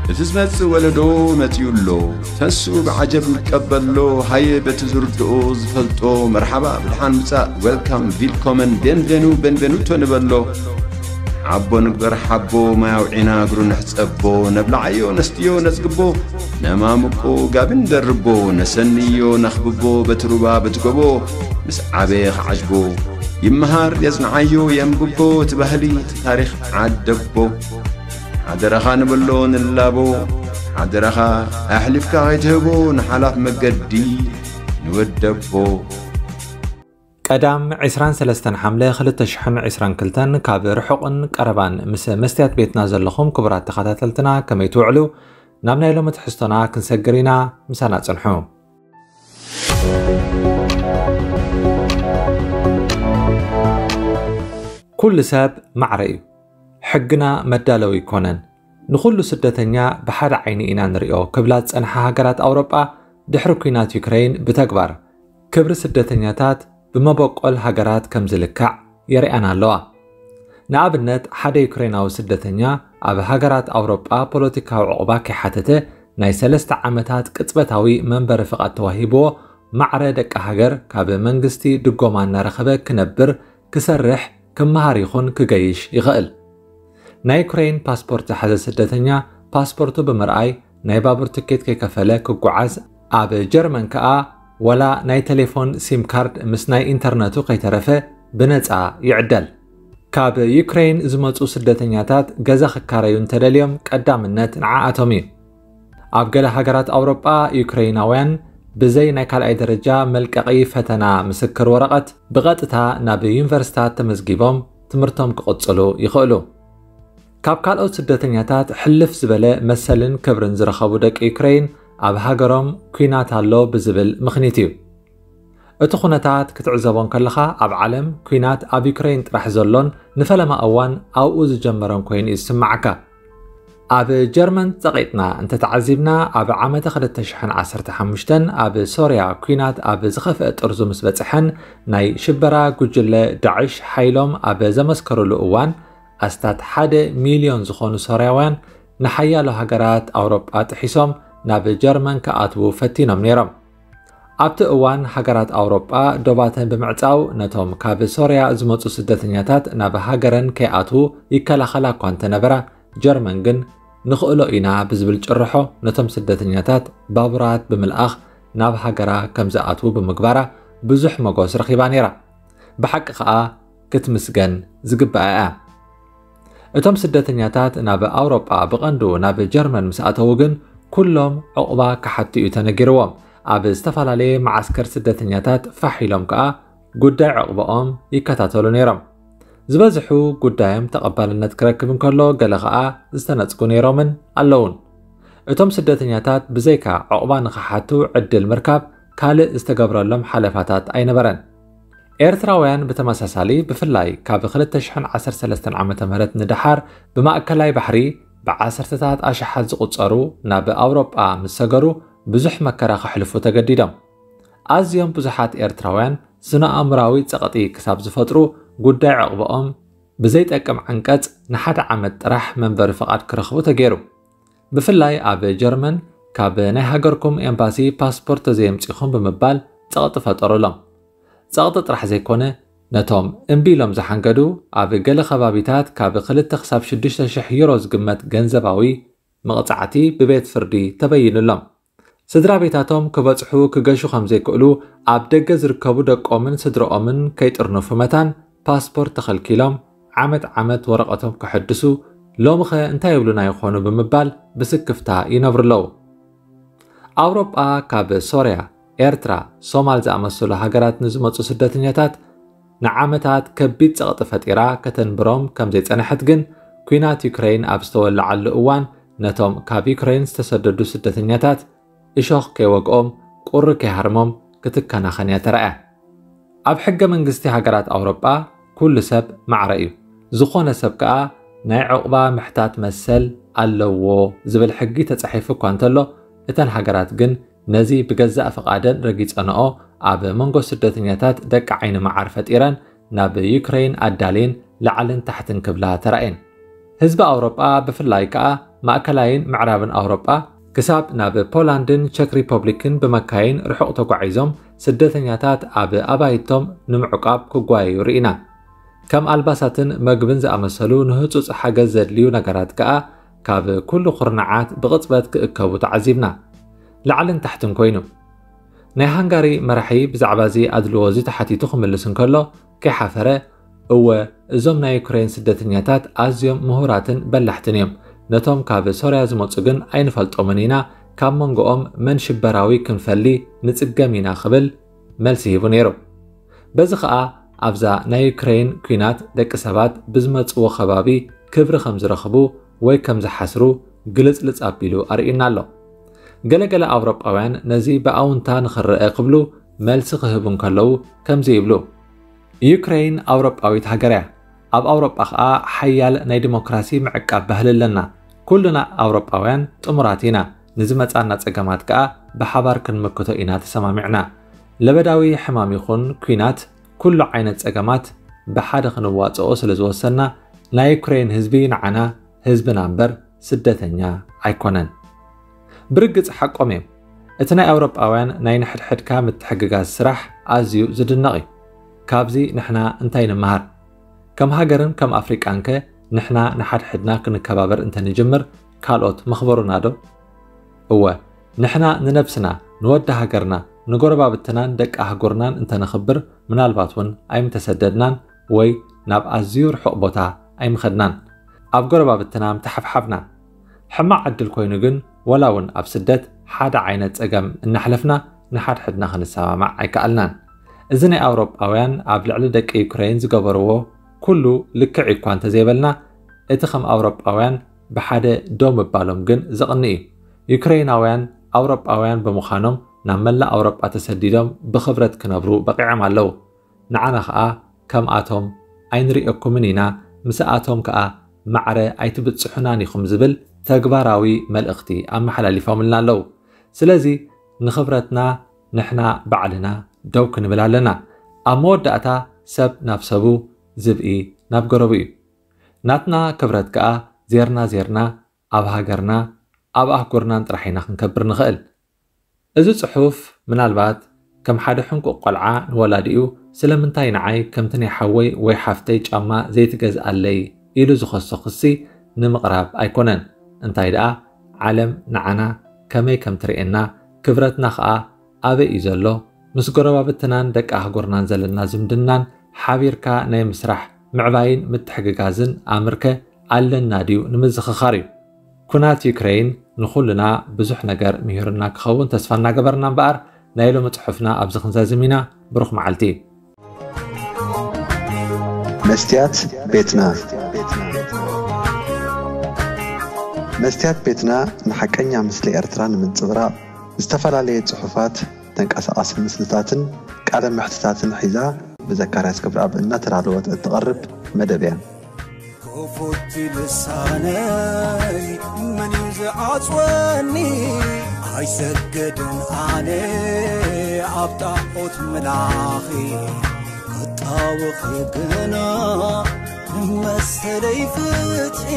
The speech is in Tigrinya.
እቲ ዝመጽእ ወለዶ መጺኡ ኣሎ። ተስኡ ብዓጀብ ይቀበሎ። ሃየ በቲ ዝርድኦ ዝፈልጦ መርሓባ ብድሓን ምጻእ፣ ዌልካም፣ ቪልኮመን፣ ቤንቬኑ፣ ቤንቬኑቶ ንበሎ። ሓቦ ንግበር ሓቦ፣ ማይ ኣውዒና እግሩ ንሕጸቦ። ነብልዓዮ ነስትዮ ነጽግቦ፣ ነማምቆ ጋቢ ንደርቦ። ነሰንዮ ነኽብቦ በቲ ሩባ በቲ ጎቦ። ምስ ዓበየ ክዓጅቦ፣ ይመሃር የጽንዓዮ የንብቦ። እቲ ባህሊ እቲ ታሪኽ ዓደቦ። ሓደራኻ ንበሎ ንላቦ፣ ሓደራኻ ኣሕሊፍካ ከይትህቦ ንሓላፍ መገዲ ንወደቦ። ቀዳም ዕስራን ሰለስተን ሓምለ ክልተ ሽሕን ዕስራን ክልተን ካብ ርሑቕን ቀረባን ምስ መስትያት ቤትና ዘለኹም ክቡራት ተኸታተልትና ከመይ ትውዕሉ? ናብ ናይ ሎሚ ትሕዝቶና ክንሰግር ኢና፣ ምሳና ጽንሑ። ኩሉ ሰብ ማዕረ እዩ። ሕግና መዳለዊ ኣይኮነን። ንኹሉ ስደተኛ ብሓደ ዓይኒ ኢና ንሪኦ ክብላ ዝጸንሓ ሃገራት ኣውሮጳ፣ ድሕሪ ኲናት ዩክረይን ብተግባር ክብሪ ስደተኛታት ብመበቆል ሃገራት ከም ዝልካዕ የርእያና ኣለዋ። ንኣብነት፣ ሓደ ዩክሬናዊ ስደተኛ ኣብ ሃገራት ኣውሮጳ ፖለቲካዊ ዕቑባ ከይሓተተ ናይ ሰለስተ ዓመታት ቅጽበታዊ መንበሪ ፍቓድ ተዋሂብዎ፣ ማዕረ ደቂ ሃገር ካብ መንግስቲ ድጎማ እናረኸበ ክነብር፣ ክሰርሕ፣ ክመሃር ይኹን ክገይሽ ይኽእል። ናይ ዩክሬን ፓስፖርት ዝሓዘ ስደተኛ ፓስፖርቱ ብምርኣይ ናይ ባቡር ትኬት ከይከፈለ ክጓዓዝ፣ ኣብ ጀርመን ከኣ ዋላ ናይ ቴሌፎን ሲም ካርድ ምስ ናይ ኢንተርነቱ ከይተረፈ ብነጻ ይዕደል። ካብ ዩክሬን ዝመጹ ስደተኛታት ገዛ ክካረዩ እንተደልዮም ቀዳምነት ንዓኣቶም እዩ። ኣብ ገለ ሃገራት ኣውሮጳ ዩክሬናውያን ብዘይ ናይ ካልኣይ ደረጃ መልቀቒ ፈተና ምስክር ወረቐት ብቐጥታ ናብ ዩኒቨርሲታት ተመዝጊቦም ትምህርቶም ክቕጽሉ ይኽእሉ። ካብ ካልኦት ስደተኛታት ሕልፍ ዝበለ መሰልን ክብርን ዝረኸቡ ደቂ ዩክሬን ኣብ ሃገሮም ኲናት ኣሎ ብዝብል ምኽኒት እዩ። እቲ ኩነታት ክትዕዘቦ እንከለኻ ኣብ ዓለም ኲናት ኣብ ዩክሬን ጥራሕ ዘሎን ንፈለማ እዋን ኣብኡ ዝጀመረን ኮይኑ እዩ ዝስምዓካ። ኣብ ጀርመን ጸቒጥና እንተተዓዚብና ኣብ ዓመተ ክልተ ሽሕን ዓሰርተ ሓሙሽተን ኣብ ሶርያ ኲናት ኣብ ዝኸፍአ ጥርዙ ምስ በጽሐን ናይ ሽበራ ጉጅለ ዳዕሽ ሓይሎም ኣብ ዘመስከሩሉ እዋን ኣስታት ሓደ ሚልዮን ዝኾኑ ሶርያውያን ንሓያሎ ሃገራት ኣውሮጳ ጥሒሶም ናብ ጀርመን ክኣትዉ ፈቲኖም ነይሮም። ኣብቲ እዋን ሃገራት ኣውሮጳ ዶባተን ብምዕጻው ነቶም ካብ ሶርያ ዝመጹ ስደተኛታት ናብ ሃገረን ከይኣትዉ ይከላኸላ እኳ እንተነበራ፣ ጀርመን ግን ንኽእሎ ኢና ብዝብል ጭርሖ ነቶም ስደተኛታት ባቡራት ብምልኣኽ ናብ ሃገራ ከም ዝኣትዉ ብምግባራ ብዙሕ መጎስ ረኺባ ነይራ። ብሓቂ ኸኣ ክትምስገን ዝግብኣ እያ። እቶም ስደተኛታት ናብ ኣውሮጳ ብቐንዱ ናብ ጀርመን ምስ ኣተዉ ግን ኩሎም ዕቑባ ክሓቱ እዩ ተነጊርዎም። ኣብ ዝተፈላለየ መዓስከር ስደተኛታት ፋሕ ኢሎም ከኣ ጉዳይ ዕቑባኦም ይከታተሉ ነይሮም። ዝበዝሑ ጉዳዮም ተቐባልነት ክረክብ እንከሎ ገለ ኸኣ ዝተነጽጉ ነይሮምን ኣለዉን። እቶም ስደተኛታት ብዘይካ ዕቑባ ንኽሓቱ ዕድል ምርካብ ካልእ ዝተገብረሎም ሓለፋታት ኣይነበረን። ኤርትራውያን ብተመሳሳሊ ብፍላይ ካብ ክልተ ሽሕን ዓሰርተ ሰለስተን ዓመተ ምህረት ንደሓር ብማእከላይ ባሕሪ ብዓሰርተታት ኣሽሓት ዝቑጸሩ ናብ ኣውሮጳ ምስ ሰገሩ ብዙሕ መከራ ከሕልፉ ተገዲዶም። ኣዝዮም ብዙሓት ኤርትራውያን ስነ ኣእምራዊ ጸቕጢ ክሳብ ዝፈጥሩ ጉዳይ ዕቑባኦም ብዘይጠቅም ዓንቀጽ ንሓደ ዓመት ጥራሕ መንበሪ ፍቓድ ክረኽቡ ተገይሩ። ብፍላይ ኣብ ጀርመን ካብ ናይ ሃገርኩም ኤምባሲ ፓስፖርት ተዘየምጺኹም ብምባል ጸቕጢ ፈጠሩሎም። ጸቕጢ ጥራሕ ዘይኮነ ነቶም እምቢ ኢሎም ዝሓንገዱ ኣብ ገለ ከባቢታት ካብ ክልተ ክሳብ ሽዱሽተ ሽሕ ዩሮ ዝግመት ገንዘባዊ መቕጻዕቲ ብቤት ፍርዲ ተበይኑሎም። ስድራ ቤታቶም ክበጽሑ ክገሹ ከም ዘይክእሉ ኣብ ደገ ዝርከቡ ደቆምን ስድርኦምን ከይጥርንፉ መታን ፓስፖርት ተኸልኪሎም ዓመት ዓመት ወረቐቶም ከሐድሱ ሎምኸ እንታይ ይብሉና ይኾኑ ብምባል ብስክፍታ ይነብሩ ኣለዉ። ኣውሮጳ ካብ ሶርያ፣ ኤርትራ፣ ሶማል ዝኣመሰሉ ሃገራት ንዝመጹ ስደተኛታት ንዓመታት ከቢድ ጸቕጢ ፈጢራ ከተንብሮም ከም ዘይጸንሐት ግን ኲናት ዩክረይን ኣብ ዝተወለዓሉ እዋን ነቶም ካብ ዩክረይን ዝተሰደዱ ስደተኛታት እሾኽ ከይወግኦም ቁሪ ከይሃርሞም ክትከናኸን እያ ተራእያ። ኣብ ሕገ መንግስቲ ሃገራት ኣውሮጳ ኩሉ ሰብ ማዕረ እዩ። ዝኾነ ሰብ ከኣ ናይ ዕቑባ ምሕታት መሰል ኣለዎ ዝብል ሕጊ ተጻሒፉ እኳ እንተሎ እተን ሃገራት ግን ነዚ ብገዛእ ፍቓደን ረጊጸንኦ ኣብ መንጎ ስደተኛታት ደቂ ዓይኒ መዓር ፈጢረን ናብ ዩክረይን ኣዳልየን ላዕልን ታሕትን ክብላ ተራእየን። ህዝቢ ኣውሮጳ ብፍላይ ከኣ ማእከላይን ምዕራብን ኣውሮጳ ክሳብ ናብ ፖላንድን ቸክ ሪፐብሊክን ብመካይን ርሑቕ ተጓዒዞም ስደተኛታት ኣብ ኣባይቶም ንምዕቋብ ክጓየዩ ርኢና። ከም ኣልባሳትን መግብን ዝኣመሰሉ ንህጹጽ ሓገዝ ዘድልዩ ነገራት ከኣ ካብ ኩሉ ኩርናዓት ብቕጽበት ክእከቡ ተዓዚብና። ላዕልን ታሕትን ኮይኑ። ናይ ሃንጋሪ መራሒ ብዛዕባ እዚ ኣድልዎ እዚ ተሓቲቱ ክምልስ እንከሎ ከይሓፈረ፣ እወ፣ እዞም ናይ ዩክሬን ስደተኛታት ኣዝዮም ምሁራትን በላሕትን እዮም። ነቶም ካብ ሶርያ ዝመጹ ግን ኣይንፈልጦምን ኢና፣ ካብ መንጎኦም መን ሽበራዊ ክንፈሊ ንጽገም ኢና ክብል መልሲ ሂቡ ነይሩ። በዚ ኸኣ ኣብዛ ናይ ዩክሬን ኲናት ደቂ ሰባት ብዝመጽዎ ከባቢ ክብሪ ከም ዝረኽቡ ወይ ከም ዝሓስሩ ግልጽልጽ ኣቢሉ ኣርእዩና ኣሎ። ገለገለ ኣውሮጳውያን ነዚ ብኣውንታ ንኽረአ ክብሉ መልሲ ክህቡ እንከለዉ ከምዚ ይብሉ። ዩክሬን ኣውሮጳዊት ሃገር እያ። ኣብ ኣውሮጳ ኸኣ ሓያል ናይ ዲሞክራሲ ምዕቃብ ባህሊ ኣለና። ኩልና ኣውሮጳውያን ጥሙራት ኢና። ንዝመጻና ጸገማት ከኣ ብሓባር ክንምክቶ ኢና ተሰማሚዕና። ለበዳዊ ሕማም ይኹን ኲናት፣ ኩሉ ዓይነት ጸገማት ብሓደ ክንዋጽኦ ስለ ዝወሰና፣ ናይ ዩክሬን ህዝቢ ንዓና ህዝብና እምበር ስደተኛ ኣይኮነን። ብርግጽ ሓቆም እዮም። እቲ ናይ ኣውሮጳውያን ናይ ንሕድሕድካ ምትሕግጋዝ ስራሕ ኣዝዩ ዝድነቕ እዩ። ካብዚ ንሕና እንታይ ንምሃር? ከም ሃገርን ከም ኣፍሪቃንከ ንሕና ንሓድሕድና ክንከባበር እንተንጅምር ካልኦት መኽበሩና ዶ? እወ፣ ንሕና ንነብስና፣ ንወዲ ሃገርና፣ ንጎረባብትናን ደቂ ኣህጉርናን እንተነኽብር ምናልባት እውን ኣይምተሰደድናን ወይ ናብ ኣዝዩ ርሑቕ ቦታ ኣይምኸድናን። ኣብ ጎረባብትና ምተሓፍሓፍና። ሕማቕ ዕድል ኮይኑ ግን ወላ እውን ኣብ ስደት ሓደ ዓይነት ጸገም እናሕለፍና ንሓድሕድና ክንሰማማዕ ኣይከኣልናን። እዚ ናይ ኣውሮጳውያን ኣብ ልዕሊ ደቂ ዩክሬን ዝገበርዎ ኩሉ ልክዕ እኳ እንተዘይበልና፣ እቲ ከም ኣውሮጳውያን ብሓደ ደው ምባሎም ግን ዘቕንእ እዩ። ዩክሬናውያን ኣውሮጳውያን ብምዃኖም ናብ መላእ ኣውሮጳ ተሰዲዶም ብኽብረት ክነብሩ በቒዖም ኣለዉ። ንዓና ኸኣ ከምኣቶም ኣይንርእየኩምን ኢና፣ ምስኣቶም ከኣ ማዕረ ኣይትብጽሑናን ኢኹም ዝብል ተግባራዊ መልእኽቲ ኣመሓላሊፎምልና ኣለዉ። ስለዚ ንኽብረትና ንሕና ባዕልና ደው ክንብል ኣለና። ኣብ መወዳእታ ሰብ ናብ ሰቡ፣ ዝብኢ ናብ ገረቡ እዩ። ናትና ክብረት ከኣ ዜርና ዜርና ኣብ ሃገርና ኣብ ኣህጉርናን ጥራሕ ኢና ክንከብር ንኽእል። እዚ ጽሑፍ ምናልባት ከም ሓደ ሕንቁቕ ቆልዓ ንወላዲኡ ስለምንታይ ንዓይ ከምቲ ናይ ሓወይ ወይ ሓፍተይ ጫማ ዘይትገዝኣለይ ኢሉ ዝኸሶ ክሲ ንምቕራብ ኣይኮነን። እንታይ ደኣ ዓለም ንዓና ከመይ ከም ትርእየና፣ ክብረትና ኸኣ ኣበይ እዩ ዘሎ፣ ምስ ጎረባብትናን ደቂ ኣህጉርናን ዘለና ዝምድናን ሓቢርካ ናይ ምስራሕ ምዕባይን ምትሕግጋዝን ኣምርከ ኣለና ድዩ ንምዝኽኻር እዩ። ኩናት ዩክሬን ንኹልና ብዙሕ ነገር ምሂሩና ክኸውን ተስፋ እናገበርና እምበኣር ናይ ሎሚ ጽሑፍና ኣብዚ ክንዛዝም ኢና። ብሩኽ መዓልቲ። መስትያት ቤትና። መስትያት ቤትና ንሓቀኛ ምስሊ ኤርትራ ንምንጽብራቕ ዝተፈላለየ ጽሑፋት፣ ተንቀሳቓሲ ምስልታትን ቃለ መሕትታትን ሒዛ ብዘካርያስ ክብረኣብ እናተዳለወት እትቐርብ መደብ እያ። ክፉት ልሳነይ መን እዩ ዝዓጽወኒ? ኣይሰገድን ኣነ ኣብ ጣዖት ምላኺ ክጣወኺ ግና ንመሰለይ ፍትሒ